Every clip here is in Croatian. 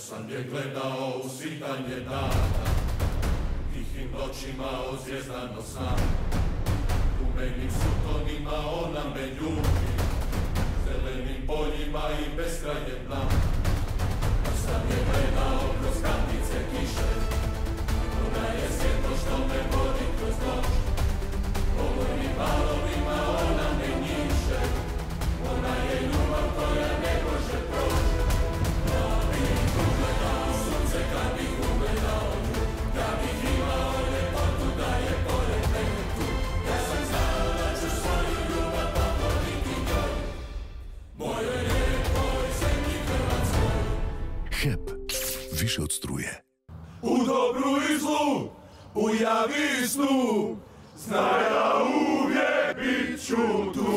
sam je gledao u svitanje dana, tihim noćima ozvjezdano sna. Umenim sutonima ona me ljubi, zelenim poljima i beskrajem dna. Kad sam je gledao kroz kandice kiše, ona je svjetlo što me vodi kroz noć. Polovnim valovima ona me njiše, ona je ljubav koja ne može proći. Ja bih ugledao sunce kad bih ugledao nju, ja bih imao ljepotu da je pored mene tu. Ja sam znao da ću svoju ljubav pokloniti njoj, mojoj lijepoj zemlji Hrvatskoj. HEP, više od struje. U dobru i zlu, u javi i snu, znaj da uvijek bit ću tu.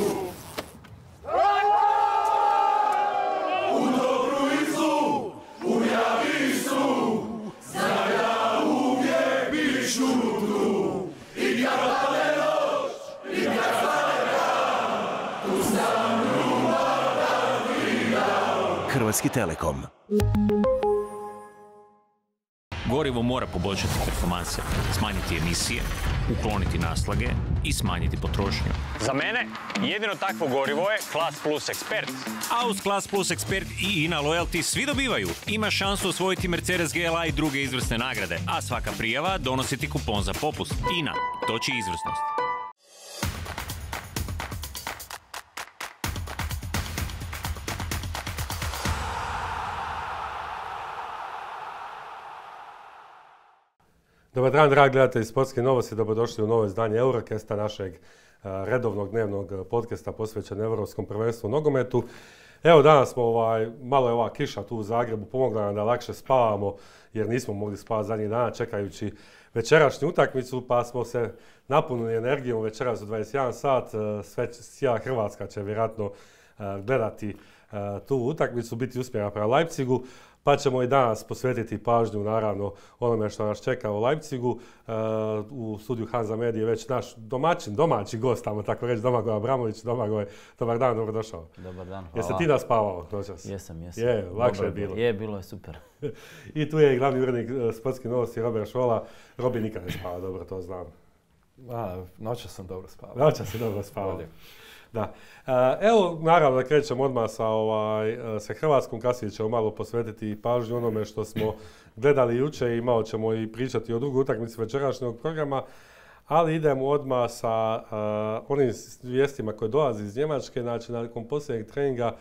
U dobru i zlu, u javi i snu, znaj da uvijek bit ću tu. I kad pade noć, i kad stane dan, tu sam ljubav da vidam. Hrvatski Telekom. Gorivo mora poboljšati performanse, smanjiti emisije, ukloniti naslage i smanjiti potrošnju. Za mene jedino takvo gorivo je Class Plus Expert. A uz Class Plus Expert i INA Loyalty svi dobivaju. Ima šansu osvojiti Mercedes GLA i druge izvrsne nagrade, a svaka prijava donosi ti kupon za popust. INA, toči izvrsnost. Dobar dan, dragi gledatelji Sportske novosti, dobrodošli u novo izdanje Eurocasta, našeg redovnog dnevnog podcasta posvećen Europskom prvenstvu u nogometu. Evo danas smo, malo je ova kiša tu u Zagrebu pomogla nam da lakše spavamo, jer nismo mogli spavati zadnjih dana čekajući večerašnju utakmicu, pa smo se napunili energijom večeras u 21 sat. Cijela Hrvatska će vjerojatno gledati tu utakmicu, biti usmjerena prema Leipzigu. Pa ćemo i danas posvetiti pažnju naravno onome što nas čeka u Leipzigu. U studiju Hanza Medije već naš domaći gost, tamo tako reći, Domagoj Abramović. Domagoj, dobar dan, dobrodošao. Dobar dan, hvala. Jesi ti naspavao noćas? Jesam. Je, lakše je bilo. Bilo je super. I tu je i glavni urednik Sportskih novosti Robert Šola. Robi nikad ne spava, dobro, to znam. Noćas sam dobro spavao. Noćas si dobro spavao. Da. Evo, naravno da krećemo odmah sa Hrvatskom, kasnije ćemo malo posvetiti pažnju onome što smo gledali jučer i malo ćemo i pričati o drugoj utakmici večerašnjeg programa, ali idemo odmah sa onim vijestima koje dolazi iz Njemačke. Znači, nakon posljednjeg treninga,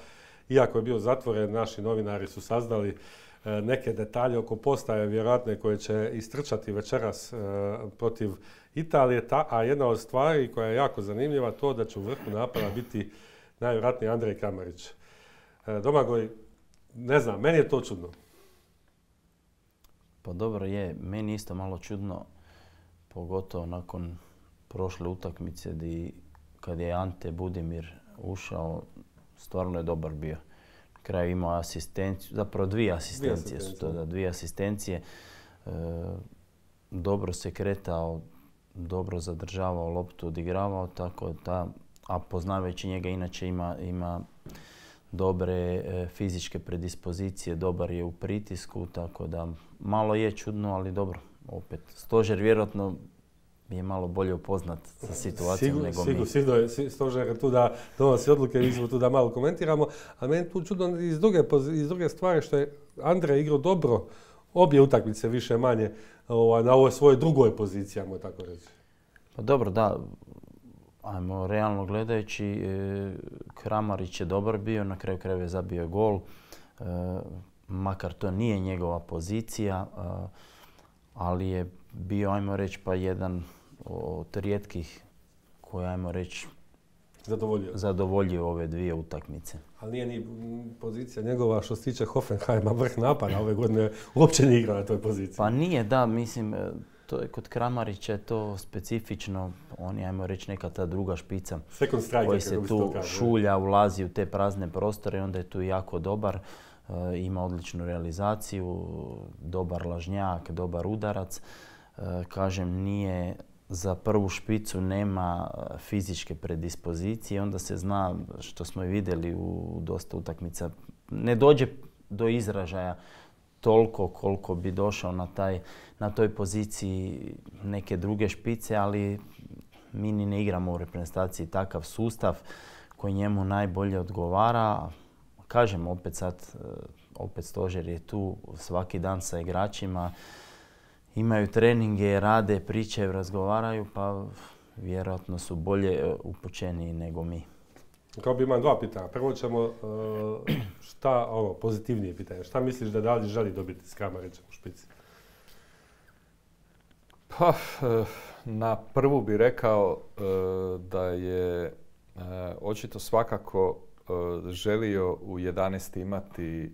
iako je bio zatvoren, naši novinari su saznali neke detalje oko postaje vjerojatne koje će istrčati večeras protiv Italije, a jedna od stvari koja je jako zanimljiva to da će u vrhu napada biti najvjerojatnije Andrej Kramarić. Domagoj, ne znam, meni je to čudno. Pa dobro je, meni isto malo čudno, pogotovo nakon prošle utakmice kad je Ante Budimir ušao, stvarno je dobar bio. Na kraju imao asistenciju, zapravo dvije asistencije. Dobro se kretao, dobro zadržavao loptu, odigravao, tako da, a poznavajući njega inače ima dobre fizičke predispozicije, dobar je u pritisku, tako da malo je čudno, ali dobro, opet. Stožer vjerojatno je malo bolje upoznat sa situacijom nego mi. Sigurno je stožer tu da donosi odluke, mi smo tu da malo komentiramo, ali meni tu čudno iz druge stvari što je Andrej igrao dobro obje utakmice više manje na ovoj svojoj drugoj poziciji, ajmo tako reći. Pa dobro, da, ajmo realno gledajući, Kramarić je dobar bio, na kraju krajeva je zabio gol, makar to nije njegova pozicija, ali je bio, ajmo reći, pa jedan od rijetkih koji, ajmo reći, zadovoljio ove dvije utakmice. Ali nije ni pozicija njegova što se tiče Hoffenheima vrh napada ove godine, uopće nije igrao na toj poziciji. Pa nije, da, mislim, to je kod Kramarića to specifično, on je, ajmo reći, neka ta druga špica koji se tu šulja, ulazi u te prazne prostore i onda je tu jako dobar. Ima odličnu realizaciju, dobar lažnjak, dobar udarac. Kažem, nije za prvu špicu, nema fizičke predispozicije, onda se zna, što smo i vidjeli u dosta utakmica, ne dođe do izražaja toliko koliko bi došao na toj poziciji neke druge špice, ali mi ni ne igramo u reprezentaciji takav sustav koji njemu najbolje odgovara. Kažem, opet Stožer je tu svaki dan sa igračima, imaju treninge, rade, pričaju, razgovaraju, pa vjerojatno su bolje upućeni nego mi. Kao bi imam dva pitanja. Prvo ćemo pozitivnije pitanje. Šta misliš da Dalić želi dobiti s Kramarićem u špici? Pa, na prvu bi rekao da je očito svakako želio u 11 imati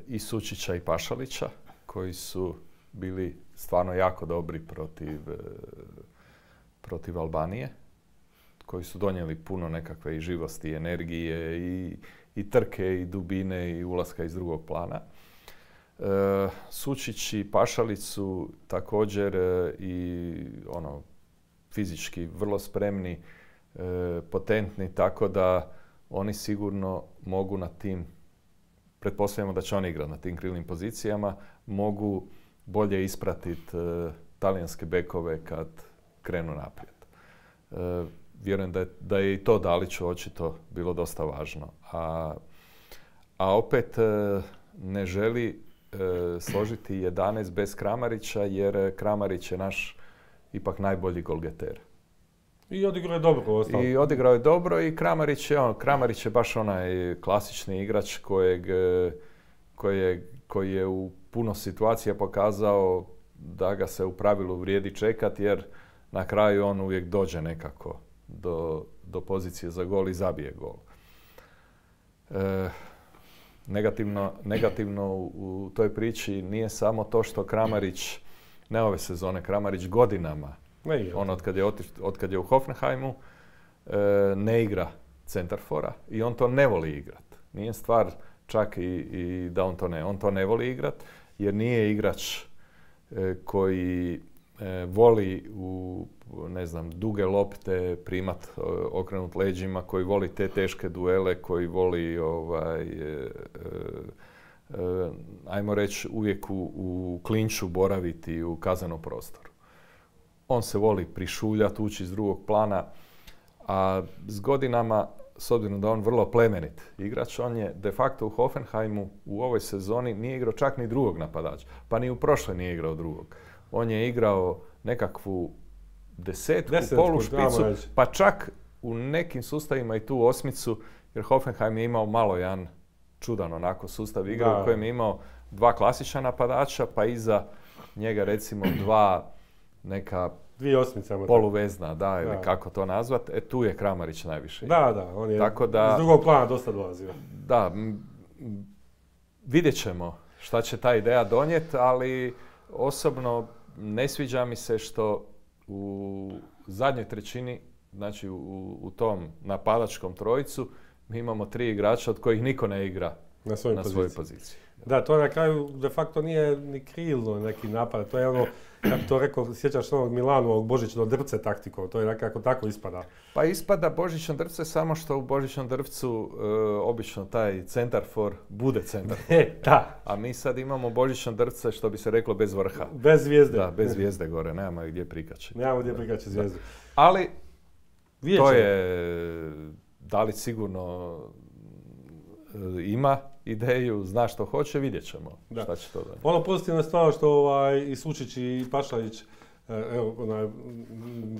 i Sučića i Pašalića, koji su bili stvarno jako dobri protiv Albanije, koji su donijeli puno nekakve i živosti, i energije, i trke, i dubine, i ulaska iz drugog plana. Sučić i Pašalić su također i fizički vrlo spremni, potentni, tako da oni sigurno mogu na tim, pretpostavljamo da će oni igrati na tim krilnim pozicijama, mogu bolje ispratiti talijanske bekove kad krenu naprijed. Vjerujem da je i to Daliću očito bilo dosta važno. A opet ne želi složiti 11 bez Kramarića, jer Kramarić je naš ipak najbolji golgeter. I odigrao je dobro ostalo. I odigrao je dobro i Kramarić je baš onaj klasični igrač koji je u puno situacija pokazao da ga se u pravilu vrijedi čekati, jer na kraju on uvijek dođe nekako do pozicije za gol i zabije gol. Negativno u toj priči nije samo to što Kramarić, ne ove sezone, Kramarić godinama, od kad je u Hoffenheimu, ne igra centarfora i on to ne voli igrat. Nije stvar čak i da on to ne voli igrat, jer nije igrač koji voli u duge lopte primat, okrenut leđima, koji voli te teške duele, koji voli ajmo reći uvijek u klinču boraviti u kaznenom prostoru. On se voli prišuljati, ući iz drugog plana, a s godinama, s obzirom da on vrlo plemenit igrač, on je de facto u Hoffenheimu u ovoj sezoni nije igrao čak ni drugog napadača, pa ni u prošloj nije igrao drugog. On je igrao nekakvu desetku, polušpicu, pa čak u nekim sustavima i tu osmicu, jer Hoffenheim je imao malo jedan čudan onako sustav igre u kojem je imao dva klasična napadača, pa iza njega recimo dva neka poluvezna, ili kako to nazvat. Tu je Kramarić najviše. Da, on je iz drugog plana dosta dolazio. Da, vidjet ćemo šta će ta ideja donijeti, ali osobno ne sviđa mi se što u zadnjoj trećini, znači u tom napadačkom trojicu, mi imamo 3 igrača od kojih niko ne igra na svojoj poziciji. Da, to na kraju de facto nije ni krilno neki napad, to je ono, ja bi to rekao, sjećaš onog Milanovog Božićno drvce taktikom, to je nekako tako ispada. Pa ispada Božićno drvce, samo što u Božićnom drvcu obično taj centarfor bude centarfor. Da. A mi sad imamo Božićno drvce, što bi se reklo, bez vrha. Bez zvijezde. Da, bez zvijezde gore, nemamo gdje prikačiti. Nemamo gdje prikačiti zvijezdu. Ali to je, Dalić sigurno ima ideju, zna što hoće, vidjet ćemo šta će to donijeti. Ono pozitivno je stvarno što i Sučić i Pašalić,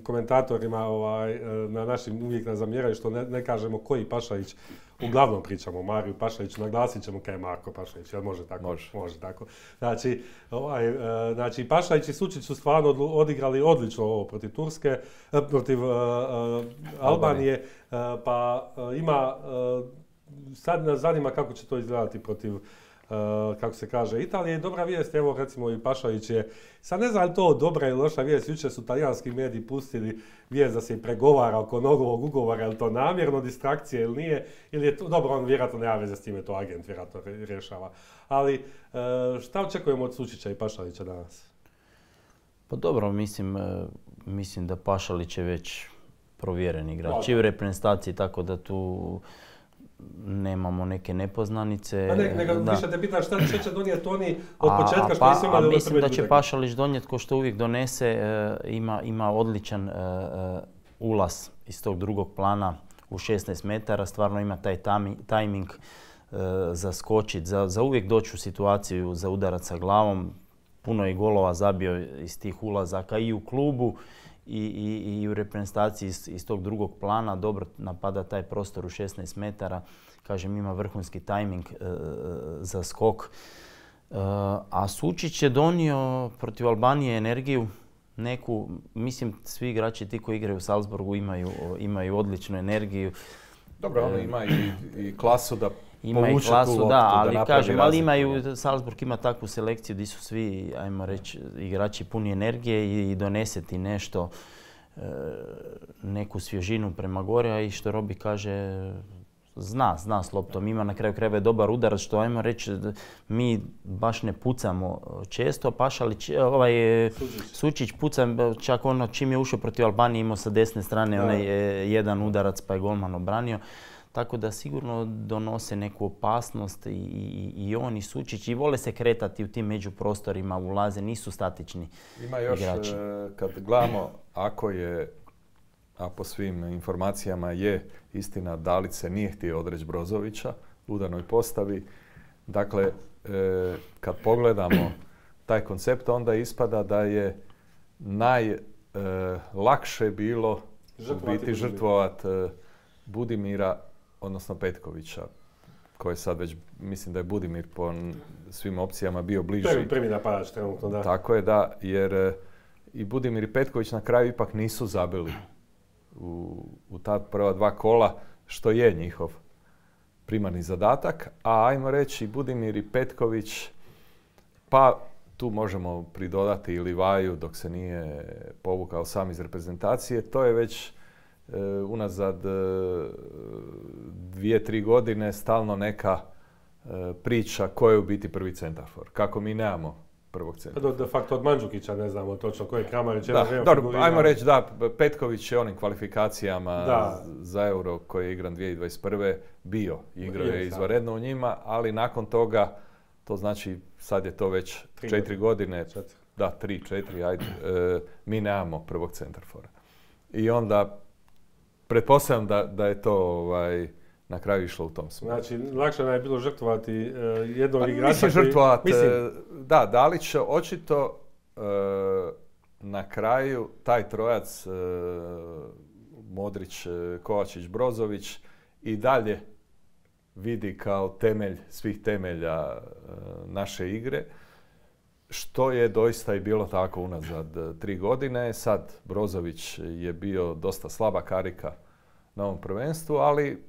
komentatorima na našim uvijek nas zamjeraju što ne kažemo koji Pašalić, uglavnom pričamo o Mariju Pašaliću, naglasit ćemo kaj je Marko Pašalić, jel može tako? Može tako. Znači Pašalić i Sučić su stvarno odigrali odlično ovo protiv Turske, protiv Albanije, pa ima... Sad nas zanima kako će to izgledati protiv, kako se kaže, Italije. Dobra vijest, evo recimo i Pašalić je, sad ne znam li to dobra ili loša vijest, jučer su talijanski mediji pustili vijest da se i pregovara oko novog ugovora, je li to namjerno distrakcija ili nije, ili je to, dobro, on vjerojatno nema veze s time, to agent vjerojatno rješava. Ali šta očekujemo od Sučića i Pašalića danas? Pa dobro, mislim da Pašalić je već provjeren igrač i u reprezentaciji, tako da tu nemamo neke nepoznanice. A nego više te pitan šta će donijeti oni od početka što nisu imali ove prve mislim da će Pašalić donijeti, ko što uvijek donese, ima odličan ulaz iz tog drugog plana u 16 metara, stvarno ima taj tajming za skočit, za uvijek doći u situaciju za udarac sa glavom. Puno je golova zabio iz tih ulazaka i u klubu i u reprezentaciji iz tog drugog plana. Dobro napada taj prostor u 16 metara. Kažem, ima vrhunski tajming za skok. A Sučić je donio protiv Albanije energiju. Neku, mislim, svi igrači ti koji igraju u Salzburgu imaju odličnu energiju. Dobro, ono ima i klasu da ima i klasu, da, ali kažem, ali imaju, Salzburg ima takvu selekciju gdje su svi, ajmo reći, igrači puni energije i donese ti nešto, neku svježinu prema gore, a i što Robi kaže, zna s loptom, ima na kraju krajeva je dobar udarac, što ajmo reći, mi baš ne pucamo često, Pašalić, Sučić puca, čak ono čim je ušao protiv Albanije imao sa desne strane onaj jedan udarac pa je golman obranio. Tako da sigurno donose neku opasnost i on i Sučić i vole se kretati u tim međuprostorima, ulaze, nisu statični ima još, igrači. Kad gledamo, a po svim informacijama je istina, Dalić se nije htio odreći Brozovića u udarnoj postavi. Dakle, kad pogledamo taj koncept, onda ispada da je najlakše bilo žrtvovat Budimira, odnosno Petkovića, koji sad već, mislim da je Budimir po svim opcijama bio bliži. Prvi napadač trenutno, da. Tako je, da, jer i Budimir i Petković na kraju ipak nisu zabili u ta prva dva kola, što je njihov primarni zadatak. A ajmo reći, Budimir i Petković, pa tu možemo pridodati i Livaju dok se nije povukao sam iz reprezentacije, to je već unazad 2-3 godine stalno neka priča ko je u biti prvi centarfor. Kako mi nemamo prvog centarfora. De facto od Mandžukića ne znamo točno ko je Kramarić. Dobro, ajmo reći da, Petković je onim kvalifikacijama za Euro koji je igran 2021. bio. Igrao je izvanredno u njima, ali nakon toga, to znači sad je to već 4 godine. Da, 3-4, ajde. Mi nemamo prvog centarfora. I onda pretpostavljam da je to na kraju išlo u tom smjeru. Znači, lakše nam je bilo žrtvovati jednog igrača koji... žrtvovati, da, Dalić očito na kraju taj trojac Modrić, Kovačić, Brozović i dalje vidi kao temelj svih temelja naše igre, što je doista i bilo tako unazad 3 godine. Sad Brozović je bio dosta slaba karika na ovom prvenstvu, ali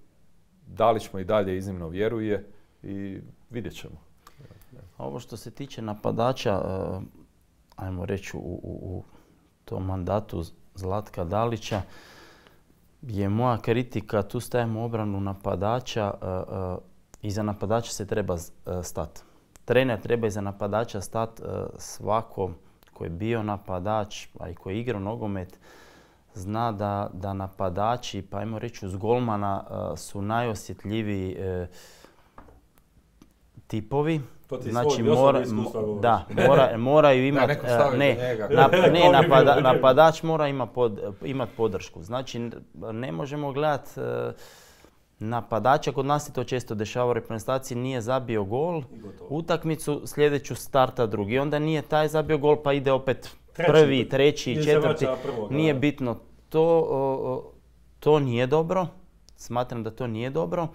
Dalić mu i dalje iznimno vjeruje i vidjet ćemo. Ovo što se tiče napadača, ajmo reći u tom mandatu Zlatka Dalića, je moja kritika, tu stavimo obranu napadača, iza napadača se treba stati. Trener treba iza napadača stati, svako koji je bio napadač, a i koji je igrao nogomet, zna da napadači, pa ajmo reći uz golmana, su najosjetljiviji tipovi. To ti znači, moraju imati, napadač mora imati podršku. Znači, ne možemo gledati napadača, kod nas se to često dešava u reprezentaciji, nije zabio gol, utakmicu, sljedeću starta drugi. Onda nije taj zabio gol pa ide opet prvi, treći, četvrti. Nije bitno. To nije dobro. Smatram da to nije dobro.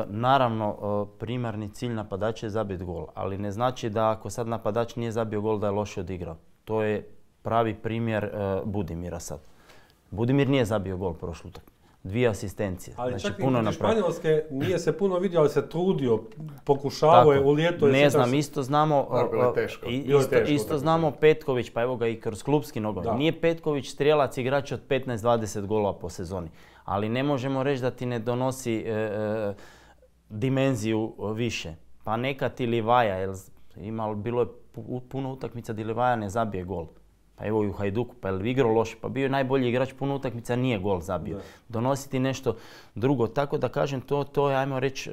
Naravno, primarni cilj napadača je zabiti gol, ali ne znači da ako sad napadač nije zabio gol da je loše odigrao. To je pravi primjer Budimira sad. Budimir nije zabio gol prošlu utakmicu. 2 asistencije. Ali znači, čak i protiv Španjolske nije se puno vidio, ali se trudio, pokušavao je u lijetu. Ne znam, isto znamo, isto znamo Petković, pa evo ga i kroz klupski nogomet. Nije Petković strijelac igrač od 15-20 golova po sezoni, ali ne možemo reći da ti ne donosi dimenziju više. Pa neka ti Livaja, bilo je puno utakmica di Livaja ne zabije gol. pa evo i u Hajduku, pa je li igrao loše, pa bio je najbolji igrač puno utakmica, nije gol zabio. Donositi nešto drugo, tako da kažem, to je, ajmo reći,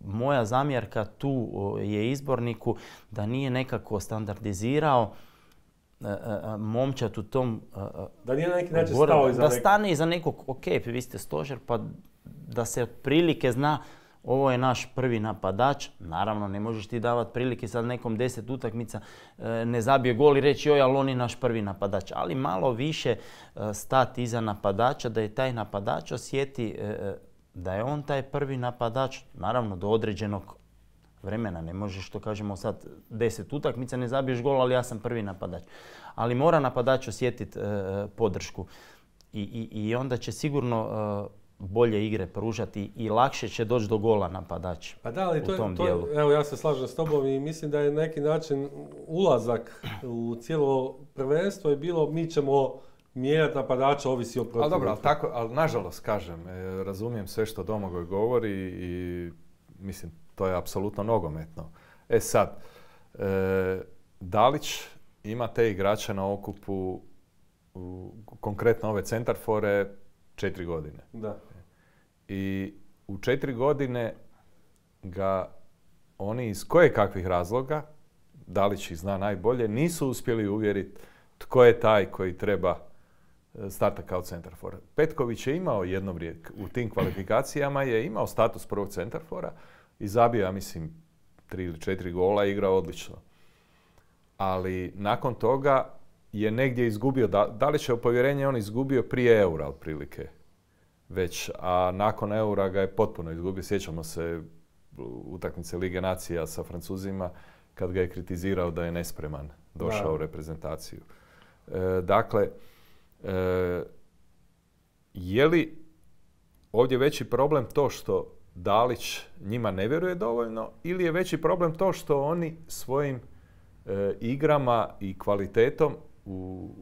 moja zamjerka tu je izborniku da nije nekako standardizirao momčad u tom da nije na neki način stao iza da stane iza nekog, ok, vi ste stožer, pa da se otprilike zna ovo je naš prvi napadač. Naravno, ne možeš ti davati prilike sad nekom 10 utakmica ne zabije gol i reći joj, ali on je naš prvi napadač. Ali malo više stati iza napadača, da je taj napadač osjeti da je on taj prvi napadač, naravno do određenog vremena. Ne možeš, što kažemo sad, 10 utakmica ne zabiješ gol, ali ja sam prvi napadač. Ali mora napadač osjetiti podršku i onda će sigurno bolje igre pružati i lakše će doći do gola napadač u tom dijelu. Evo, ja se slažem s tobom i mislim da je na neki način ulazak u cijelo prvenstvo je bilo mi ćemo mijenjati napadača, ovisi o protivniku. Ali dobro, ali nažalost kažem, razumijem sve što Domagoj govori i mislim to je apsolutno nogometno. Sad, Dalić ima te igrače na okupu, konkretno ove centarfore, 4 godine. Da. I u 4 godine ga oni iz kojekakvih razloga, Dalić ih zna najbolje, nisu uspjeli uvjeriti tko je taj koji treba starta kao centarfor. Petković je imao jedno vrijeme, u tim kvalifikacijama je imao status prvog centarfora i zabio, ja mislim, 3 ili 4 gola i igrao odlično. Ali nakon toga je negdje izgubio, Dalićevo povjerenje on izgubio prije Eura otprilike već, a nakon Eura ga je potpuno izgubio. Sjećamo se utakmice Lige nacija sa Francuzima kad ga je kritizirao da je nespreman došao u reprezentaciju. Dakle, je li ovdje veći problem to što Dalić njima ne vjeruje dovoljno ili je veći problem to što oni svojim igrama i kvalitetom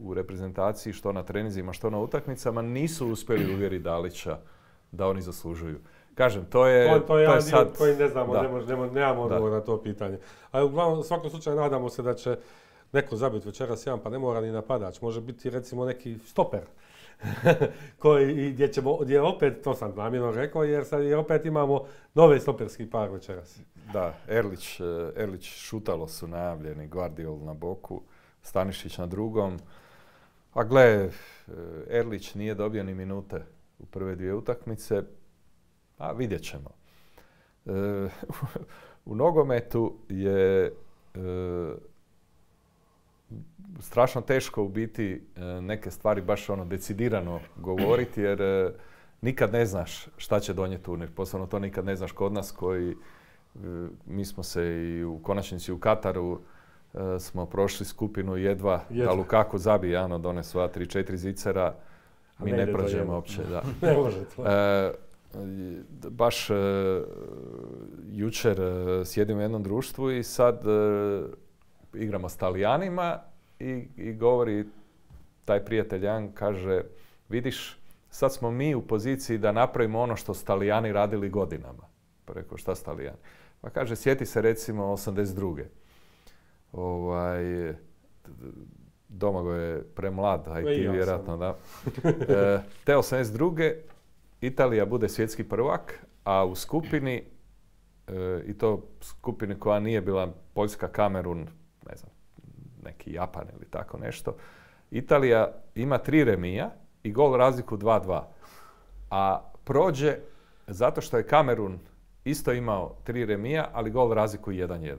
u reprezentaciji, što na treninzima, što na utakmicama, nisu uspjeli uvjeriti Dalića da oni zaslužuju. Kažem, to je jedan sad... dio koji ne znamo, nemamo odgovor na to pitanje. Ali uglavnom, u svakom slučaju nadamo se da će neko zabiti večeras jedan, pa ne mora ni napadač. Može biti recimo neki stoper. Gdje opet, to sam namjerno rekao, jer sad opet imamo nove stoperski par večeras. Da, Erlić, Šutalo su najavljeni, Guardiol na boku, Stanišić na drugom. A gle, Erlić nije dobio ni minute u prve 2 utakmice, a vidjet ćemo. U nogometu je strašno teško u biti neke stvari baš decidirano govoriti, jer nikad ne znaš šta će donijeti turnir. Posebno to nikad ne znaš kod nas koji, mi smo se i u konačnici u Kataru smo prošli skupinu jedva. Da Lukaku zabije, done sva 3-4 zicera, mi ne prođemo uopće. Da. Ne može to. Baš jučer sjedim u jednom društvu i sad igramo s Talijanima i govori taj prijatelj Jan, kaže, vidiš, sad smo mi u poziciji da napravimo ono što su Talijani radili godinama. Pa rekao, šta su Talijani? Pa kaže, sjeti se recimo 82. Domagoj je premlad, a i ti vjerojatno, da. Te 82. Italija bude svjetski prvak, a u skupini, i to skupini koja nije bila Poljska, Kamerun, ne znam, neki Japan ili tako nešto, Italija ima 3 remija i gol razliku 2-2. A prođe zato što je Kamerun isto imao 3 remija, ali gol razliku 1-1.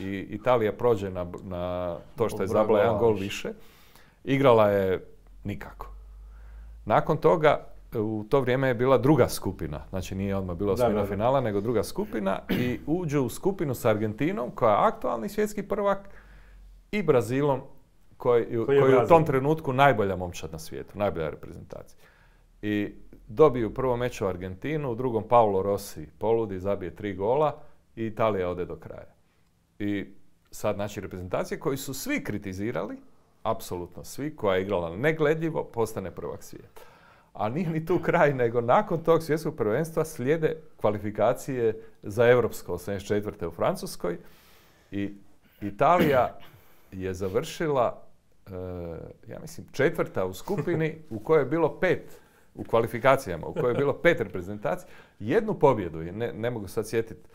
I Italija prođe na to što je zabila jedan gol više. Igrala je nikako. Nakon toga, u to vrijeme je bila druga skupina. Znači nije odmah bila osmina finala, nego druga skupina. I uđu u skupinu s Argentinom, koja je aktualni svjetski prvak, i Brazilom, koji je u tom trenutku najbolja momčad na svijetu, najbolja reprezentacija. I dobiju u prvom meču Argentinu, u drugom Paolo Rossi poludi, zabije 3 gola i Italija ode do kraja. I sad, znači, reprezentacije koji su svi kritizirali, apsolutno svi, koja je igrala negledljivo, postane prvak svijeta. A nije ni tu kraj, nego nakon tog svjetskog prvenstva slijede kvalifikacije za Europsko 84. u Francuskoj i Italija je završila ja mislim, 4. u skupini u kojoj je bilo 5 u kvalifikacijama, u kojoj je bilo 5 reprezentacija, jednu pobjedu, ne mogu sad sjetiti,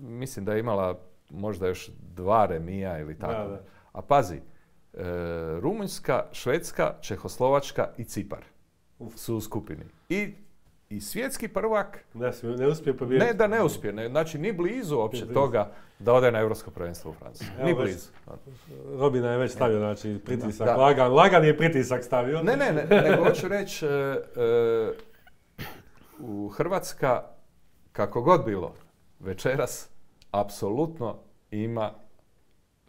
mislim da je imala možda još 2 remija ili tako. Da. A pazi, Rumunjska, Švedska, Čehoslovačka i Cipar su u skupini. I svjetski prvak ne uspije pobijediti. Ne da ne uspije, znači ni blizu uopće toga da ode na Europsko prvenstvo u Francusku. Ni blizu. Robina je već stavio, znači pritisak, lagan je pritisak stavio. Ne, nego hoću reći, u Hrvatska, kako god bilo, večeras apsolutno ima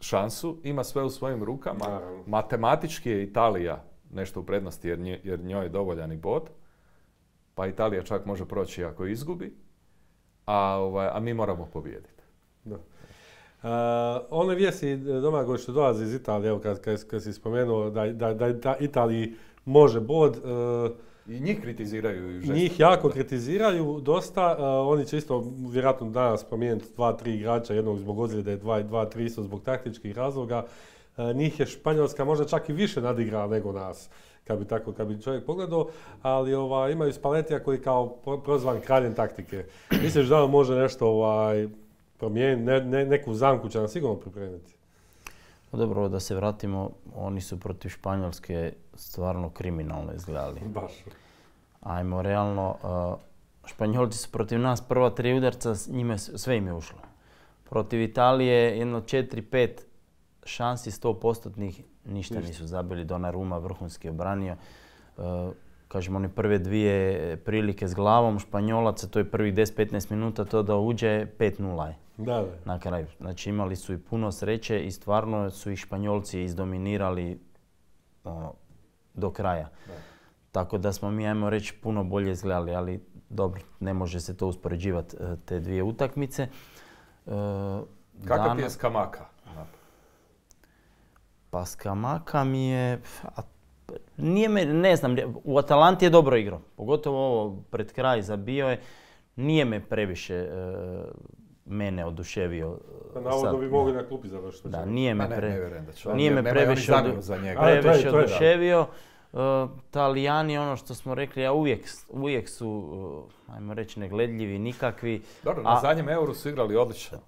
šansu, ima sve u svojim rukama. Naravno. Matematički je Italija nešto u prednosti jer njoj je dovoljan i bod. Pa Italija čak može proći ako izgubi, a mi moramo pobijediti. Da. One vijesti, Domagoj, što dolaze iz Italije, evo kad si spomenuo da Italiji može bod. I njih kritiziraju. Njih jako kritiziraju dosta. Oni će isto vjerojatno danas promijeniti 2-3 igrača, jednog zbog ozljede, 2-3 isto zbog taktičkih razloga. Njih je Španjolska možda čak i više nadigrala nego nas, kad bi čovjek pogledao, ali imaju Spallettija koji kao prozvan kraljem taktike. Misliš da on može nešto promijeniti, neku zamku će nam sigurno pripremiti? Dobro, da se vratimo, oni su protiv Španjolske stvarno kriminalno izgledali. Baš. Ajmo, realno, Španjolci su protiv nas prva 3 udarca, sve im je ušlo. Protiv Italije jedno 4-5 šansi 100%-nih, ništa nisu zabili. Donnarumma vrhunski obranio. Kažemo, one prve 2 prilike s glavom Španjolaca, to je prvih 10-15 minuta, to da uđe 5-0 je. Da. Na kraju. Znači imali su i puno sreće i stvarno su ih Španjolci izdominirali do kraja. Da. Tako da smo mi, ajmo reći, puno bolje izgledali, ali dobro, ne može se to uspoređivati te 2 utakmice. Kakav ti je Scamacca? Pa Scamacca mi je, ne znam, u Atalanti je dobro igrao, pogotovo ovo pred kraj zabio je, nije me previše mene oduševio. Navodno bi mogli na klupi završiti. Da, nije me previše oduševio. Talijani, ono što smo rekli, uvijek su, ajmo reći, negledljivi, nikakvi. Dobro, na zadnjem Euru su igrali odlično.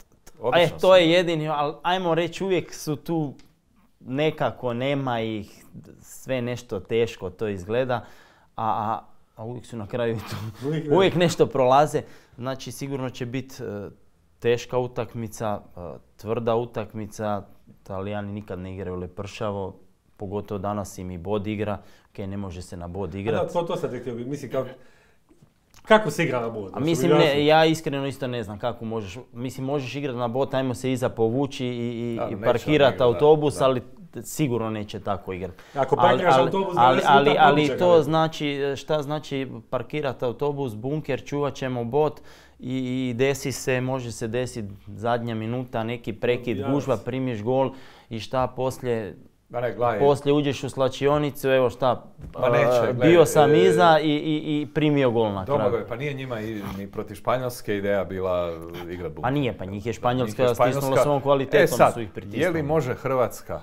To je jedini, ali ajmo reći, uvijek su tu nekako, nema ih, sve nešto teško to izgleda, a uvijek su na kraju tu, uvijek nešto prolaze. Znači sigurno će biti teška utakmica, tvrda utakmica. Talijani nikad ne igraju lepršavo, pogotovo danas im i bod igra. Ok, ne može se na bod igrati. To sam te htio biti, mislim kako se igra na bod? Mislim, ja iskreno isto ne znam kako možeš. Mislim, možeš igrati na bod, ajmo se iza povući i parkirati autobus, ali sigurno neće tako igrati. Ako parkiraš autobus, ali to znači, šta znači parkirati autobus, bunker, čuvat ćemo bod i može se desiti zadnja minuta, neki prekid, gužva, primiš gol i šta poslije. Poslije uđeš u slačionicu, evo šta, bio sam iza i primio gol na kraju. Domagoj, pa nije njima ni protiv Španjolske ideja bila igrat bunker. Pa nije, pa njih je Španjolska stisnula svom kvalitetom, su ih pritisnuli. Je li može Hrvatska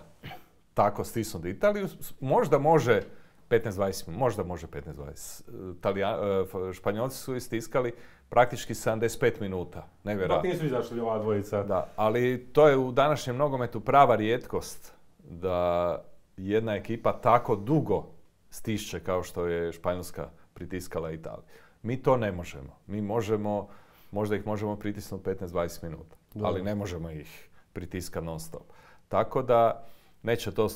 tako stisnuti Italiju? Možda može 15-20, možda može 15-20. Španjolci su istiskali praktički 75 minuta, nevjerojatno. Pa nisu izašli ova dvojica. Da, ali to je u današnjem nogometu prava rijetkost da jedna ekipa tako dugo stišće kao što je Španjolska pritiskala Italiju. Mi to ne možemo. Mi možemo, možda ih možemo pritisnuti 15-20 minuta, ali ne možemo ih pritiskati non stop. Tako da neće to,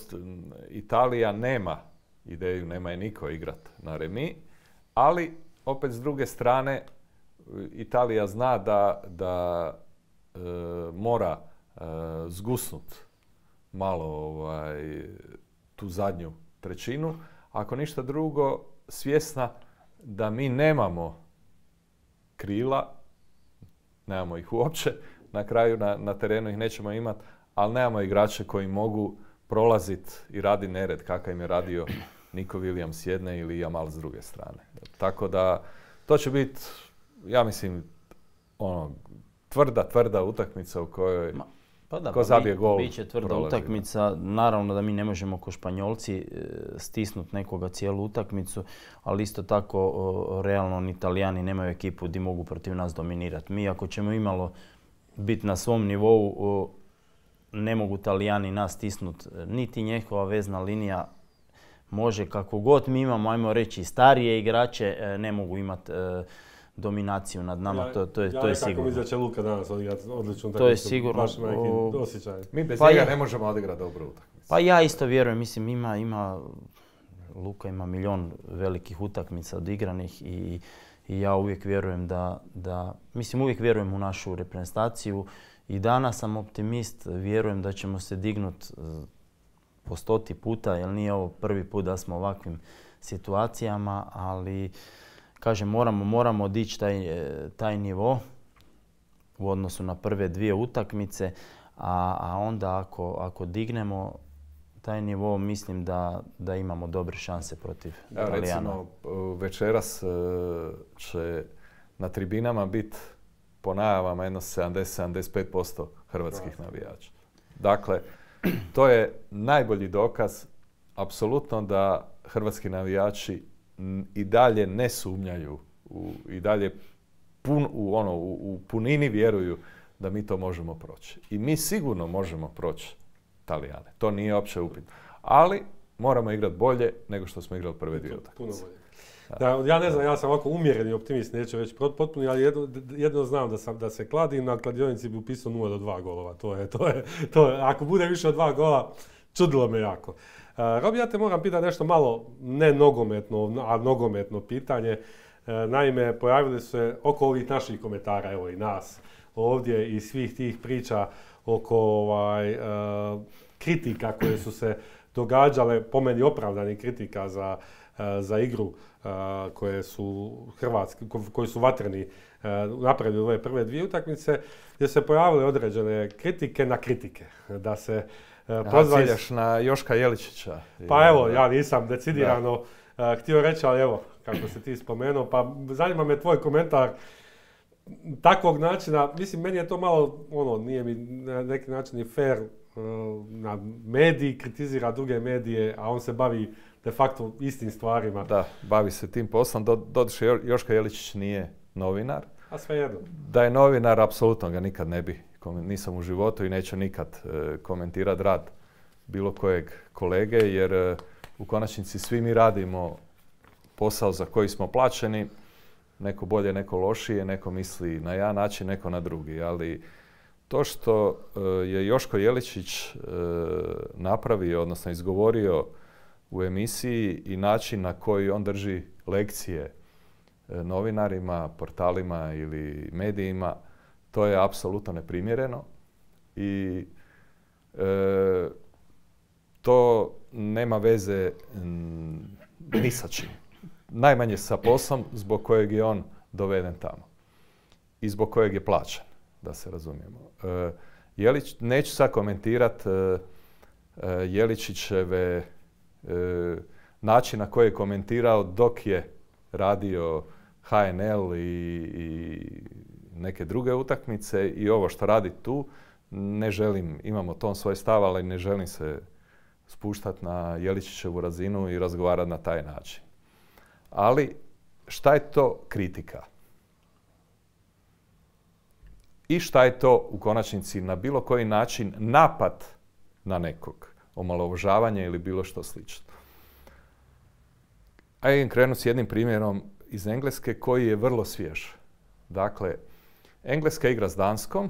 Italija nema ideju, nema je niko igrat na remi, ali opet s druge strane Italija zna da mora zgusnut malo tu zadnju trećinu. Ako ništa drugo, svjesna da mi nemamo krila, nemamo ih uopće, na kraju na terenu ih nećemo imati, ali nemamo igrače koji mogu prolaziti i radi nered kakav im je radio Nico Williams s jedne ili Jamal s druge strane. Tako da to će biti, ja mislim, tvrda utakmica u kojoj ko zabije gol. Biće tvrda utakmica. Naravno da mi ne možemo ko Španjolci stisnuti nekoga cijelu utakmicu, ali isto tako realno ni Italijani nemaju ekipu gdje mogu protiv nas dominirati. Mi ako ćemo imalo biti na svom nivou, ne mogu Italijani nas stisnuti. Niti njihova vezna linija može kako god mi imamo, ajmo reći, starije igrače, ne mogu imati dominaciju nad nama, to je sigurno. Ja nekako mislim da će Luka danas odigrati odličnu utakmicu. To je sigurno. Baš na neki osjećaj. Mi bez njega ne možemo odigrati dobru utakmicu. Pa ja isto vjerujem, mislim Luka ima milion velikih utakmica odigranih i ja uvijek vjerujem uvijek vjerujem u našu reprezentaciju i danas sam optimist, vjerujem da ćemo se dignuti po 100 puta, jer nije ovo prvi put da smo u ovakvim situacijama, ali kažem, moramo dići taj nivo u odnosu na prve 2 utakmice, a onda ako dignemo taj nivo, mislim da imamo dobre šanse protiv Italijana. Recimo, večeras će na tribinama biti po najavama jedno 70-75% hrvatskih navijača. Dakle, to je najbolji dokaz apsolutno da hrvatski navijači i dalje ne sumnjaju i dalje u punini vjeruju da mi to možemo proći. I mi sigurno možemo proći Italijane. To nije uopće upitno. Ali moramo igrati bolje nego što smo igrali prve 2 utakmice. Puno bolje. Ja ne znam, ja sam ovako umjereni optimist, neću reći potpuno, ali jedno znam da se kladim, na kladionici bi upisao 0-2 golova. To je, ako bude više od 2 gola, čudilo me jako. Robi, ja te moram pitati nešto malo ne nogometno, a nogometno pitanje. Naime, pojavili su se oko ovih naših komentara, evo i nas ovdje i svih tih priča oko kritika koje su se događale, po meni opravdani kritika za igru koji su vatreni napravili ove prve 2 utakmice, gdje se pojavile određene kritike na kritike. Da se ciljaš na Joška Jeličića. Pa evo, ja nisam decidirano htio reći, ali evo, kako se ti spomenuo, pa zanima me tvoj komentar takvog načina. Mislim, meni je to malo, nije mi na neki način i fair, na mediji kritizira druge medije, a on se bavi de facto istim stvarima. Da, bavi se tim poslom. Doduše, Joška Jeličić nije novinar. A svejedno. Da je novinar, apsolutno ga nikad ne bi. Nisam u životu i neću nikad komentirati rad bilo kojeg kolege, jer u konačnici svi mi radimo posao za koji smo plaćeni. Neko bolje, neko lošije, neko misli na jedan način, neko na drugi. Ali to što je Joško Jeličić napravio, odnosno izgovorio u emisiji i način na koji on drži lekcije novinarima, portalima ili medijima, to je apsolutno neprimjereno i to nema veze ni sa čim. Najmanje sa poslom zbog kojeg je on doveden tamo i zbog kojeg je plaćen, da se razumijemo. Neću sad komentirati Jeličićeve način na koji je komentirao dok je radio HNL i neke druge utakmice i ovo što radi tu. Ne želim, imamo ton svoj stav, ali ne želim se spuštati na Jeličićevu razinu i razgovarati na taj način. Ali šta je to kritika? I šta je to u konačnici na bilo koji način napad na nekog, omalovažavanje ili bilo što slično. Ajde krenuti s jednim primjerom iz Engleske koji je vrlo svjež. Dakle, Engleska igra s Danskom,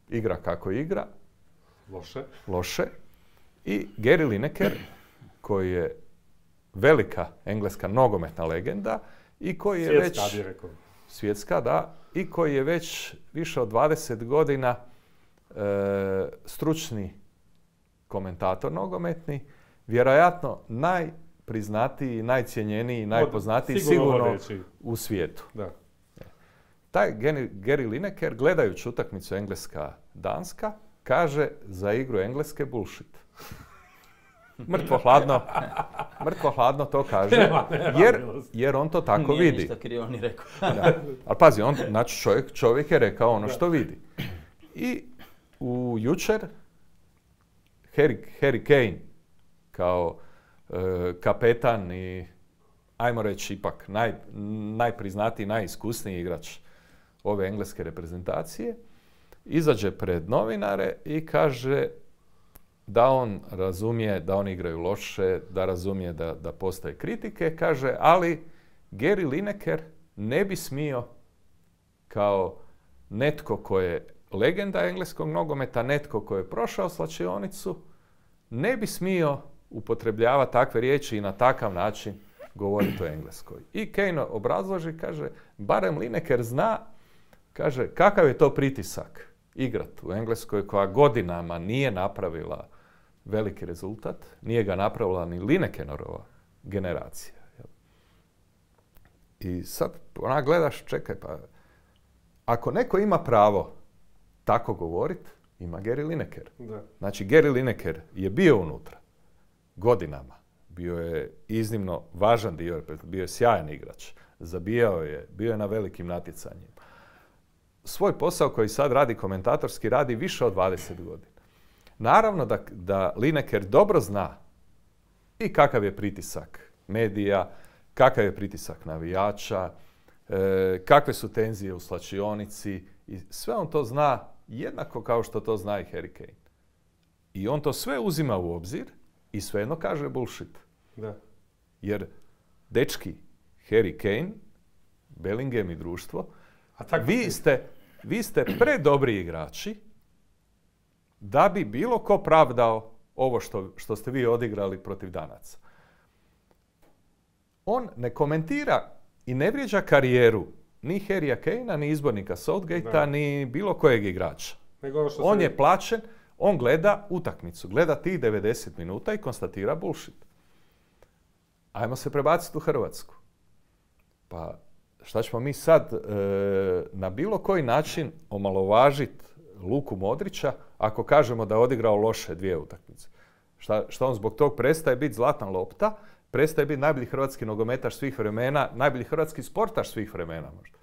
igra kako igra. Loše. I Gary Lineker, koji je velika engleska nogometna legenda i koji je svjetska, da, i koji je već više od 20 godina stručni komentator nogometni, vjerojatno najpriznatiji, najcijenjeniji, najpoznatiji sigurno u svijetu. Da. Taj Gary Lineker, gledajući utakmicu Engleska-Danska, kaže za igru Engleske bullshit. Mrtvo hladno to kaže, jer on to tako vidi. Nije ništa krivo ni rekao. Ali pazi, čovjek je rekao ono što vidi. I jučer Harry Kane kao kapetan i ajmo reći ipak najpriznatiji, najiskusniji igrač ove engleske reprezentacije, izađe pred novinare i kaže da on razumije da oni igraju loše, da razumije da postoje kritike, kaže, ali Gary Lineker ne bi smio kao netko ko je legenda engleskog nogometa, netko ko je prošao slačionicu, ne bi smio upotrebljavati takve riječi i na takav način govoriti o Engleskoj. I Kane obrazloži, kaže, barem Lineker zna, kaže, kakav je to pritisak igrati u Engleskoj koja godinama nije napravila veliki rezultat, nije ga napravila ni Linekerova generacija. I sad onak gledaš, čekaj, pa ako neko ima pravo tako govoriti, ima Gary Lineker. Da. Znači, Gary Lineker je bio unutra godinama. Bio je iznimno važan dio, bio je sjajan igrač. Zabijao je, bio je na velikim natjecanjima. Svoj posao koji sad radi komentatorski radi više od 20 godina. Naravno da Lineker dobro zna i kakav je pritisak medija, kakav je pritisak navijača, kakve su tenzije u slačionici i sve on to zna jednako kao što to zna i Harry Kane. I on to sve uzima u obzir i svejedno kaže bullshit. Da. Jer dečki, Harry Kane, Bellingham i društvo, vi ste predobri igrači da bi bilo ko pravdao ovo što ste vi odigrali protiv Danaca. On ne komentira i ne vrijeđa karijeru ni Harrya Kanea, ni izbornika Southgatea, ni bilo kojeg igrača. On je plaćen, on gleda utakmicu, gleda tih 90 minuta i konstatira bullshit. Ajmo se prebaciti u Hrvatsku. Pa šta ćemo mi sad na bilo koji način omalovažiti Luku Modrića ako kažemo da je odigrao loše 2 utakmice? Šta on zbog tog prestaje biti zlatna lopta, prestaje biti najbolji hrvatski nogometaš svih vremena, najbolji hrvatski sportaš svih vremena možda?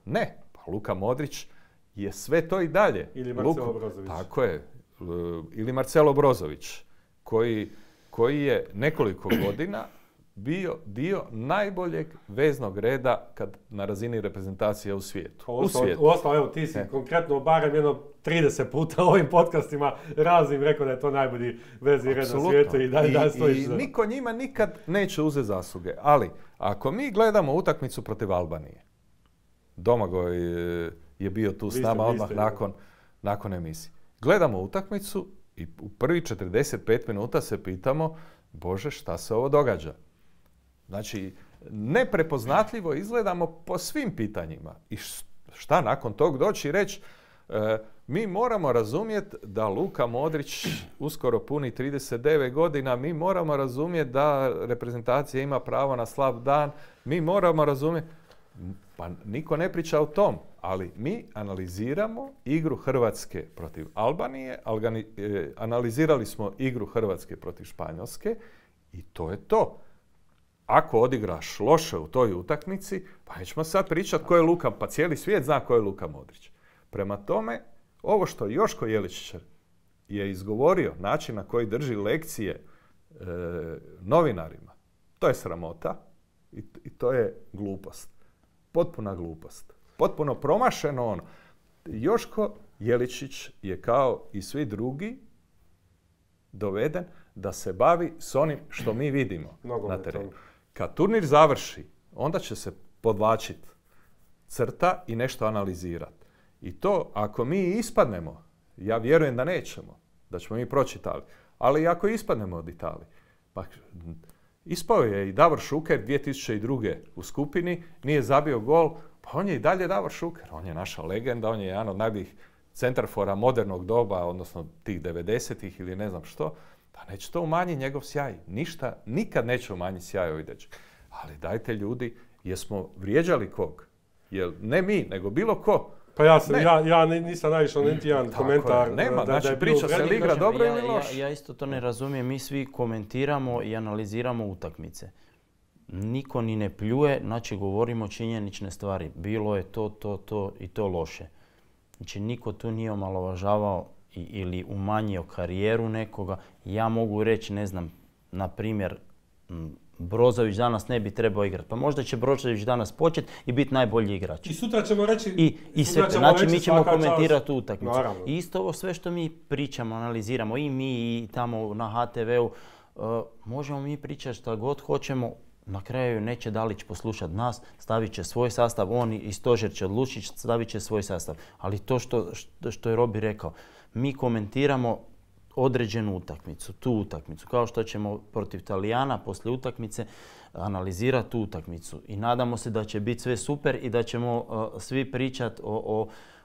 Ne, pa Luka Modrić je sve to i dalje. Ili Marcelo Brozović. Tako je. Ili Marcelo Brozović, koji je nekoliko godina bio dio najboljeg veznog reda na razini reprezentacije u svijetu. Uostalom, evo, ti si konkretno barem jedno 30 puta u ovim podcastima raznim rekao da je to najbolji vezni red na svijetu i da stojiš. I niko njima nikad neće uzeti zasluge. Ali, ako mi gledamo utakmicu protiv Albanije, Domagoj je bio tu s nama odmah nakon emisije. Gledamo utakmicu i u prvi 45 minuta se pitamo, Bože, šta se ovo događa? Znači, neprepoznatljivo izgledamo po svim pitanjima. I šta nakon tog doći i reći, mi moramo razumjeti da Luka Modrić uskoro puni 39 godina, mi moramo razumjeti da reprezentacija ima pravo na slab dan, mi moramo razumjeti, pa niko ne priča o tom, ali mi analiziramo igru Hrvatske protiv Albanije, analizirali smo igru Hrvatske protiv Španjolske i to je to. Ako odigraš loše u toj utakmici, pa nećemo sad pričati ko je Luka, pa cijeli svijet zna ko je Luka Modrić. Prema tome, ovo što Joško Jeličić je izgovorio, način na koji drži lekcije novinarima, to je sramota i to je glupost. Potpuna glupost. Potpuno promašeno ono. Joško Jeličić je kao i svi drugi doveden da se bavi s onim što mi vidimo na terenu. Kad turnir završi, onda će se podvlačiti crta i nešto analizirati. I to, ako mi ispadnemo, ja vjerujem da nećemo, da ćemo mi proći Italiju, ali ako ispadnemo od Italije, pa ispao je i Davor Šuker 2002. u skupini, nije zabio gol, pa on je i dalje Davor Šuker. On je naša legenda, on je jedan od najboljih centarfora modernog doba, odnosno tih 90-ih ili ne znam što. Pa neće to umanjiti njegov sjaj. Ništa, nikad neće umanjiti sjaj ovih dečaka. Ali dajte ljudi, jesmo vrijeđali kog? Jel ne mi, nego bilo ko? Pa ja nisam naišao niti jedan komentar. Nema, znači priča se li igra dobro ili loše. Ja isto to ne razumijem. Mi svi komentiramo i analiziramo utakmice. Niko ni ne pljuje, znači govorimo činjenične stvari. Bilo je to i to loše. Znači niko tu nije omalovažavao ili umanjio karijeru nekoga. Ja mogu reći, ne znam, na primjer, Brozović danas ne bi trebao igrati. Pa možda će Brozović danas početi i biti najbolji igrač. I sutra ćemo reći... Znači mi ćemo komentirati utakmicu. I isto ovo sve što mi pričamo, analiziramo, i mi i tamo na HTV-u, možemo mi pričati što god hoćemo, na kraju neće Dalić poslušati nas, stavit će svoj sastav, on i Stožer će odlučiti, stavit će svoj sastav. Ali to što je Robi rekao, mi komentiramo određenu utakmicu, tu utakmicu, kao što ćemo protiv Talijana poslije utakmice analizirati tu utakmicu. I nadamo se da će biti sve super i da ćemo svi pričati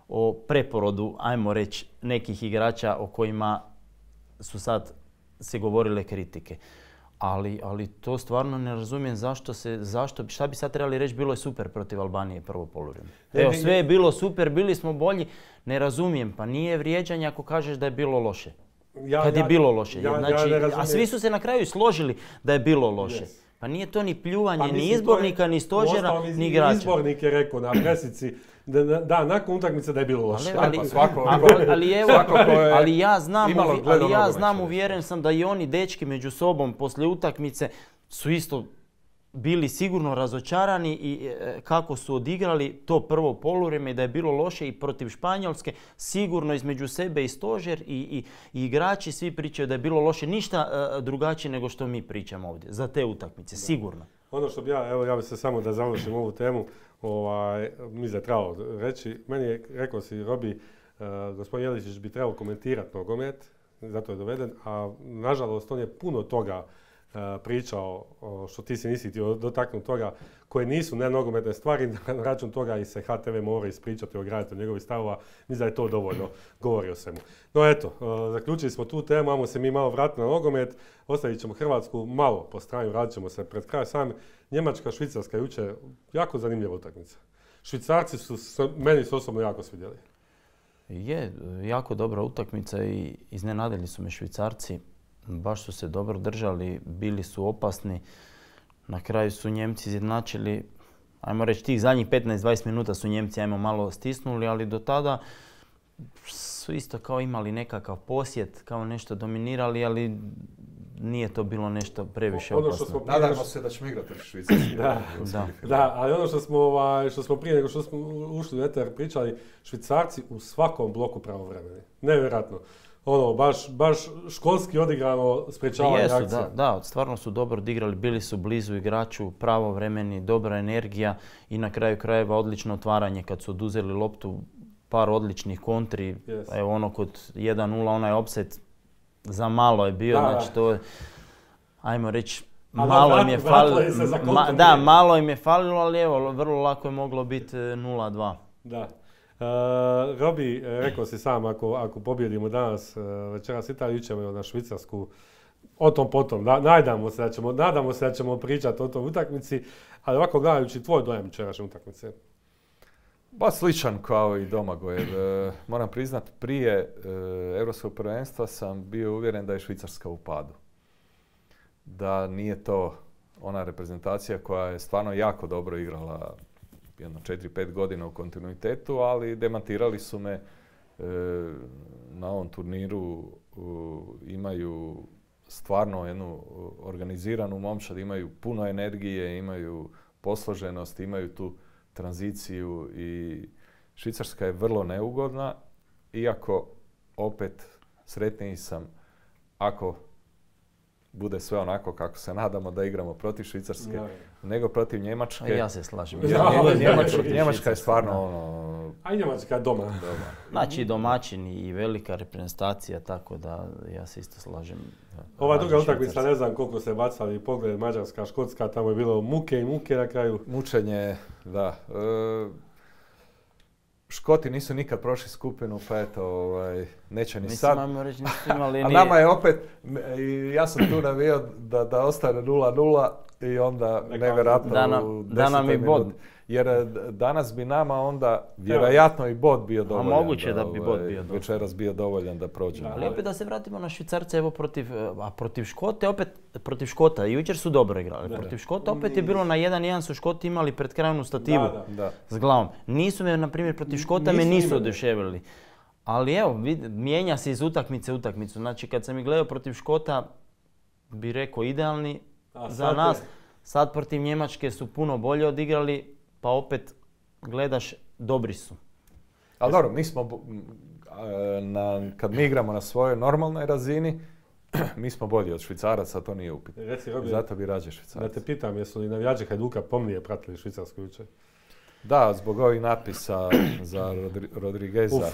o preporodu, ajmo reći, nekih igrača o kojima su sad se govorile kritike. Ali to stvarno ne razumijem šta bi sad trebali reći, bilo je super protiv Albanije prvo poluvrijeme. Evo, sve je bilo super, bili smo bolji, ne razumijem, pa nije vrijeđanje ako kažeš da je bilo loše. Kad je bilo loše. A svi su se na kraju složili da je bilo loše. Pa nije to ni pljuvanje, ni izbornika, ni Stožera, ni igrača. Izbornik je rekao na presici nakon utakmice da je bilo loše. Ali ja znam, uvjeren sam da i oni dečki među sobom poslije utakmice su isto bili sigurno razočarani i kako su odigrali to prvo poluvrijeme, da je bilo loše i protiv Španjolske, sigurno između sebe i Stožer i igrači svi pričaju da je bilo loše, ništa drugačije nego što mi pričamo ovdje za te utakmice, sigurno. Ono što bi ja bi se samo da završim ovu temu, mi je trebalo reći, meni je, rekao si Robi, gospodin Jeličić bi trebao komentirati nogomet, zato je doveden, a nažalost on je puno toga pričao, što ti se nisi htio dotaknuti toga, koje nisu nenogometne stvari, na račun toga i se HTV mora ispričati, ograditi od njegovih stavova, mislim da je to dovoljno, govori o svemu. No eto, zaključili smo tu temu, ajmo se mi malo vratiti na nogomet, ostavit ćemo Hrvatsku malo po strani, radit ćemo se pred kraj sami. Njemačka, Švicarska jučer, jako zanimljiva utakmica. Švicarci meni su osobno jako svidjeli. Je, jako dobra utakmica i iznenadili su me Švicarci. Baš su se dobro držali, bili su opasni. Na kraju su Njemci izjednačili, ajmo reći, tih zadnjih 15-20 minuta su Njemci malo stisnuli, ali do tada su isto kao imali nekakav posjet, kao nešto dominirali, ali nije to bilo nešto previše opasno. Nadamo se da ćemo igrati Švicarski. Da, ali ono što smo prije nego što smo ušli u eter pričali, Švicarci u svakom bloku pravovremeni. Nevjerojatno. Baš školski odigrano sprečavanje akcija. Da, stvarno su dobro odigrali, bili su blizu igraču, pravovremeni, dobra energija i na kraju krajeva odlično otvaranje kad su oduzeli loptu, par odličnih kontri. Evo ono kod 1-0, onaj offset za malo je bio, znači to je, ajmo reći, malo im je falilo. Malo im je falilo, ali evo, vrlo lako je moglo biti 0-2. Da. Robi, rekao si sam, ako pobjedimo danas večeras Italiju, ićemo na Švicarsku, o tom potom. Nadamo se da ćemo pričati o toj utakmici, ali ovako gledajući tvoj dojam večerašnje utakmice. Ba sličan kao i Domagojev. Moram priznat, prije Europskog prvenstva sam bio uvjeren da je Švicarska u padu. Da nije to ona reprezentacija koja je stvarno jako dobro igrala jedno 4-5 godina u kontinuitetu, ali demantirali su me na ovom turniru. Imaju stvarno jednu organiziranu momčad, imaju puno energije, imaju posloženost, imaju tu tranziciju i Švicarska je vrlo neugodna, iako opet sretniji sam ako bude sve onako kako se nadamo da igramo protiv Švicarske, nego protiv Njemačke. Ja se slažem. Njemačka je stvarno ono... A i Njemačka je doma. Znači domaćin i velika reprezentacija, tako da ja se isto slažem. Ova druga utakmica, ne znam koliko se bacali pogled, Mađarska, Škotska, tamo je bilo muke i muke na kraju. Mučenje, da. Škoti nisu nikad prošli skupinu, pa eto, neće ni sad. A nama je opet, ja sam tu navio da ostane 0-0 i onda nevjerojatno u 10. minuti. Jer danas bi nama onda vjerojatno i bod bio dovoljan. A moguće da bi bod bio dovoljan. Večeras bio dovoljan da prođemo. Ali opet da se vratimo na Švicarce, evo protiv Škote, opet protiv Škota. Jučer su dobro igrali. Protiv Škota opet je bilo na 1-1 su Škoti imali pred krajnu stativu s glavom. Nisu me, na primjer, protiv Škota me nisu oduševili. Ali evo, mijenja se iz utakmice u utakmicu. Znači kad sam ih gledao protiv Škota, bi rekao idealni za nas. Sad protiv Njemačke su puno bolje odigrali, pa opet gledaš, dobri su. Ali dobro, mi smo, kad mi igramo na svojoj normalnoj razini, mi smo bolji od Švicaraca, to nije upitno. Zato bi rađe Švicaraca. Da te pitam, jesu li navijači Hajduka pomnije pratili Švicarsku jučer? Da, zbog ovih natpisa za Rodrigueza.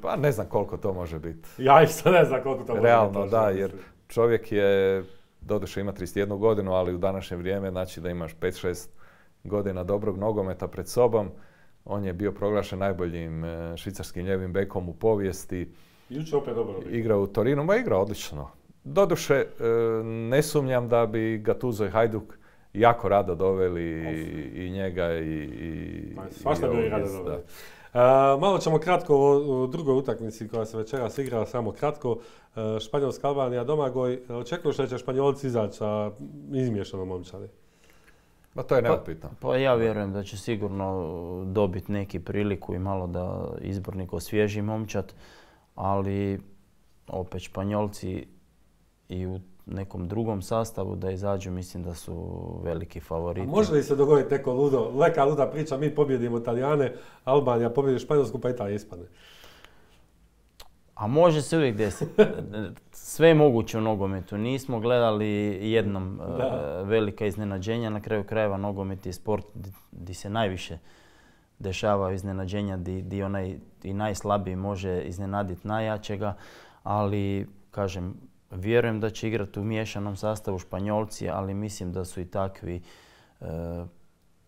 Pa ne znam koliko to može biti. Ja isto ne znam koliko to može biti. Realno, da, jer čovjek je, doduše ima 31 godinu, ali u današnje vrijeme znači da imaš 5-6 godina dobrog nogometa pred sobom. On je bio proglašen najboljim švicarskim ljevim bekom u povijesti. Jučer opet dobro. Igrao u Torinu, ma igrao odlično. Doduše, ne sumnjam da bi Gattuso i Hajduk jako rado doveli i njega i svašta bi rado doveli. Malo ćemo kratko o drugoj utakmici koja se večeras igra, samo kratko. Španjolska Albanija, Domagoj. Očekuješ da će Španjolci izaći sa izmiješanom momčadi? Ma to je neupitno. Pa ja vjerujem da će sigurno dobiti neki priliku i malo da izbornik osvježi momčad, ali opet Španjolci i u nekom drugom sastavu da izađu, mislim da su veliki favoriti. A može li se dogoditi neko luda priča, mi pobjedimo Italijane, Albanija pobjedi Španjolsku pa Italija ispadne? A može se uvijek desiti. Sve je moguće u nogometu. Nismo gledali jednom velika iznenađenja. Na kraju krajeva nogomet je sport gdje se najviše dešavaju iznenađenja, gdje onaj i najslabiji može iznenaditi najjačega. Ali, kažem, vjerujem da će igrati u miješanom sastavu Španjolci, ali mislim da su i takvi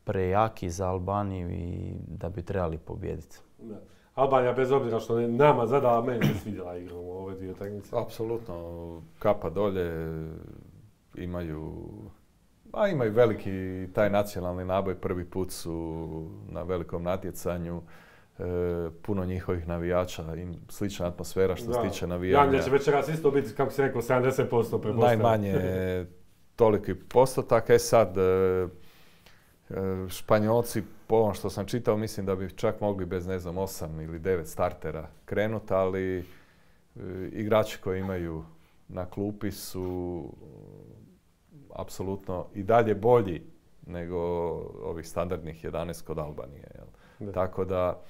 prejaki za Albaniju i da bi trebali pobijediti. Albanija, bez obzira što je nama zadala, meni se svidjela igra u ove dvije utakmice. Apsolutno, kapa dolje, imaju veliki taj nacionalni naboj, prvi put su na velikom natjecanju. Puno njihovih navijača, slična atmosfera što se tiče navijanja. Janje će večeras isto biti, kako si rekao, 70% prepostavljeno. Najmanje toliki postotak. Sad, Španjolci, po ovom što sam čitao, mislim da bi čak mogli bez, 8 ili 9 startera krenuti, ali igrači koji imaju na klupi su apsolutno i dalje bolji nego ovih standardnih 11 kod Albanije. Tako da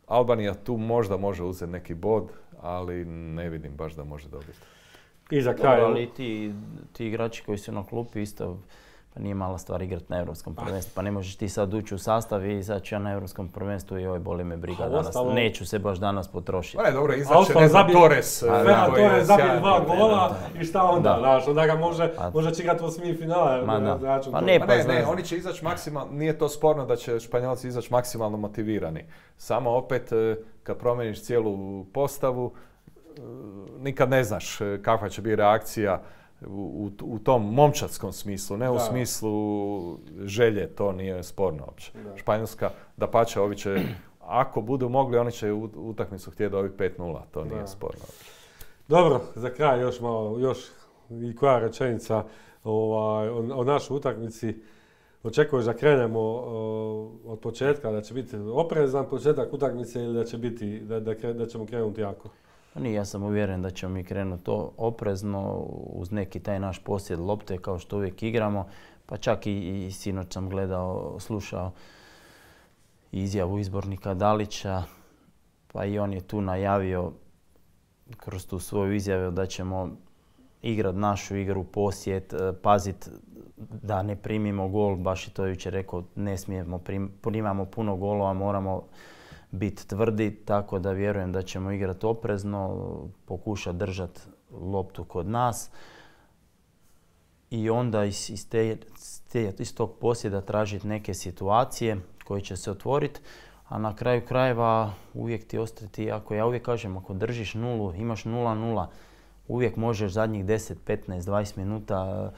Albanija tu možda može uzeti neki bod, ali ne vidim baš da može dobiti. I za kraj. Ali ti igrači koji su na klupi isto, pa nije mala stvar igrati na Europskom prvenstvu. Pa ne možeš ti sad ući u sastav i izaći ja na Europskom prvenstvu i boli me briga danas. Neću se baš danas potrošiti. Pa ne, dobro, izaći ne znam Torres. Torres zabije 2 gola i šta onda? Znaš, onda ga može će igrati u osmi finala. Ne, oni će izaći maksimalno, nije to sporno da će Španjolci izaći maksimalno motivirani. Samo opet, kad promeniš cijelu postavu, nikad ne znaš kakva će biti reakcija u tom momčadskom smislu, ne u smislu želje, to nije sporno uopće. Španjolska, dapače, ovi će, ako budu mogli, oni će utakmicu htjeti dobiti 5-0, to nije sporno uopće. Dobro, za kraj još i koja rečenica o našoj utakmici. Očekuješ da krenemo od početka, da će biti oprezan početak utakmice ili da će biti, da ćemo krenuti jako? Nije, ja sam uvjeren da ćemo mi krenuti to oprezno uz neki taj naš posjed lopte kao što uvijek igramo. Pa čak i sinoć sam slušao izjavu izbornika Dalića, pa i on je tu najavio kroz tu svoju izjavu da ćemo igrati našu igru, posjet, paziti da ne primimo gol, baš i to jučer rekao, ne smijemo, primamo puno golova, moramo biti tvrdi, tako da vjerujem da ćemo igrati oprezno, pokušati držati loptu kod nas i onda iz tog posjeda tražiti neke situacije koje će se otvoriti, a na kraju krajeva uvijek ti ostati, ja uvijek kažem, ako držiš nulu, imaš 0-0, uvijek možeš zadnjih 10, 15, 20 minuta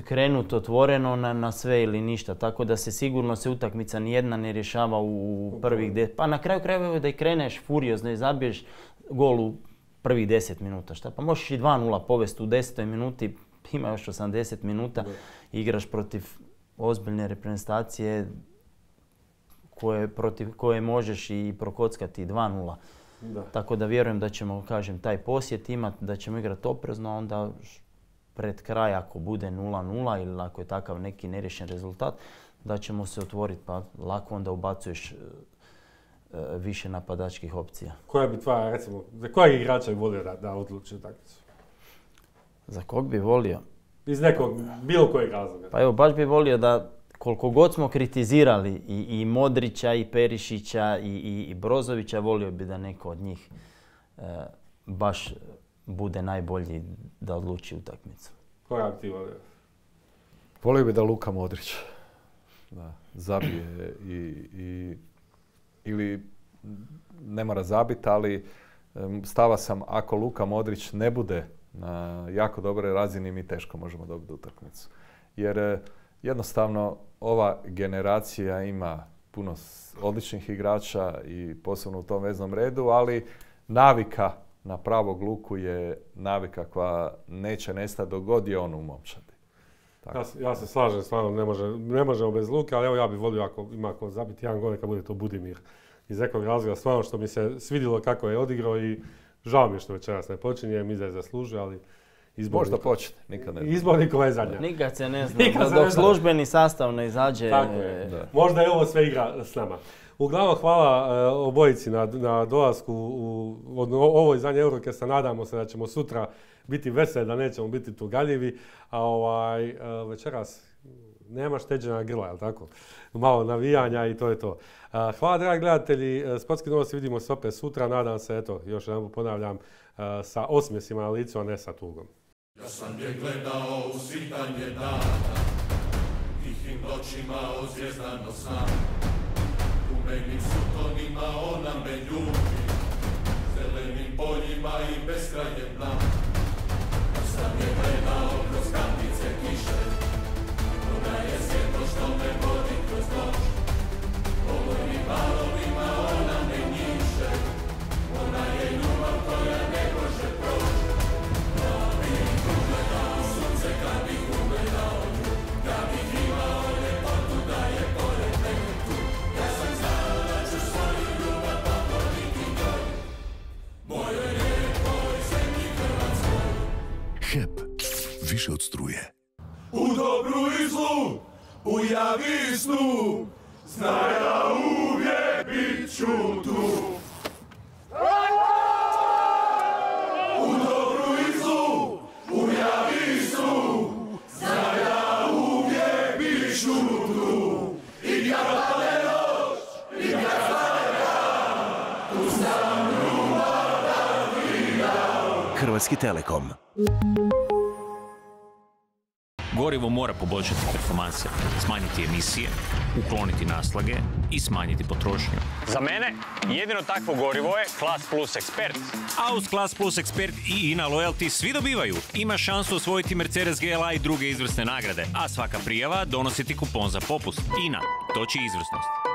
krenut otvoreno na sve ili ništa. Tako da se sigurno utakmica nijedna ne rješava u prvih 10. Pa na kraju krajeva da i kreneš furiozno i zabiješ gol u prvih 10 minuta. Šta? Pa možeš i 2-0 povesti u 10. minuti, ima još 80 minuta, igraš protiv ozbiljne reprezentacije protiv koje možeš i prokockati 2-0. Tako da vjerujem da ćemo, kažem, taj posjet imati, da ćemo igrati oprezno, a onda pred kraj ako bude 0-0 ili ako je takav neki neriješen rezultat, da ćemo se otvoriti, pa lako onda ubacuješ više napadačkih opcija. Koja bi tvoja, recimo, za kojeg igrača bi volio da odluči utakmicu? Za kog bi volio? Iz nekog, bilo kojeg razloga. Pa evo, baš bi volio da koliko god smo kritizirali i Modrića, i Perišića, i Brozovića, volio bi da neko od njih baš bude najbolji da odluči utakmicu. Koja bi ti volio? Volio bi da Luka Modrić zabije ili ne mora zabiti, ali stava sam ako Luka Modrić ne bude na jako dobroj razini, mi teško možemo dobiti utakmicu. Jer jednostavno ova generacija ima puno odličnih igrača i posebno u tom veznom redu, ali navika na pravog Luku je navika koja neće nestati dok god je on u momčadi. Ja se slažem, stvarno ne možemo bez Luke, ali evo ja bih volio ako ima ko zabiti jedan gol, neka bude to Budimir. Iz nekog razloga stvarno što mi se svidjelo kako je odigrao i žao mi je što večeras ne počinje, mi da je zaslužio, ali možda počne, nikad ne. Izbor Nikola je zadnja. Nikad se ne zna, dok službeni sastav ne izađe. Tako je. Možda je ovo sve igra s nama. Uglavnom, hvala obojici na dolasku u ovo izdanje Eurocasta. Nadamo se da ćemo sutra biti veseli, da nećemo biti tugaljivi. A večeras nema šteđena grla, jel tako? Malo navijanja i to je to. Hvala, dragi gledatelji. Sportski novosti vidimo se opet sutra. Nadam se, eto, još jedan ponavljam, sa osmjesima na licu, a ne sa tugom. Ja sam je gledao u svitanje dana, tihim noćima ozvjezdano sam. Umenim sutonima ona me ljubi, zelenim poljima i beskrajem nam. Ja sam je gledao kroz kantice kiše, ona je svjetlo što me vodi kroz noć. Olojnim valovima ona me njiše, ona je ljubav koja ne može proći. Ja bih ugledao sunce kad bih ugledao nju, ja bih imao ljepotu da je pored mene tu. Ja sam znao da ću svoju ljubav pokloniti njoj, mojoj lijepoj zemlji Hrvatskoj. HEP, više od struje. U dobru i zlu, u javi i snu, znaj da uvijek bit ću tu. U dobru i zlu, u javi i snu, znaj da uvijek bit ću tu. I kad pade noć, i kad stane dan, tu sam ljubav da ti dam. Hrvatski Telekom. Gorivo mora poboljšati performanse, smanjiti emisije, ukloniti naslage i smanjiti potrošnju. Za mene jedino takvo gorivo je Class Plus Expert. A uz Class Plus Expert i INA Loyalty svi dobivaju. Ima šansu osvojiti Mercedes GLA i druge izvrsne nagrade, a svaka prijava donosi ti kupon za popust. INA, toči izvrsnost.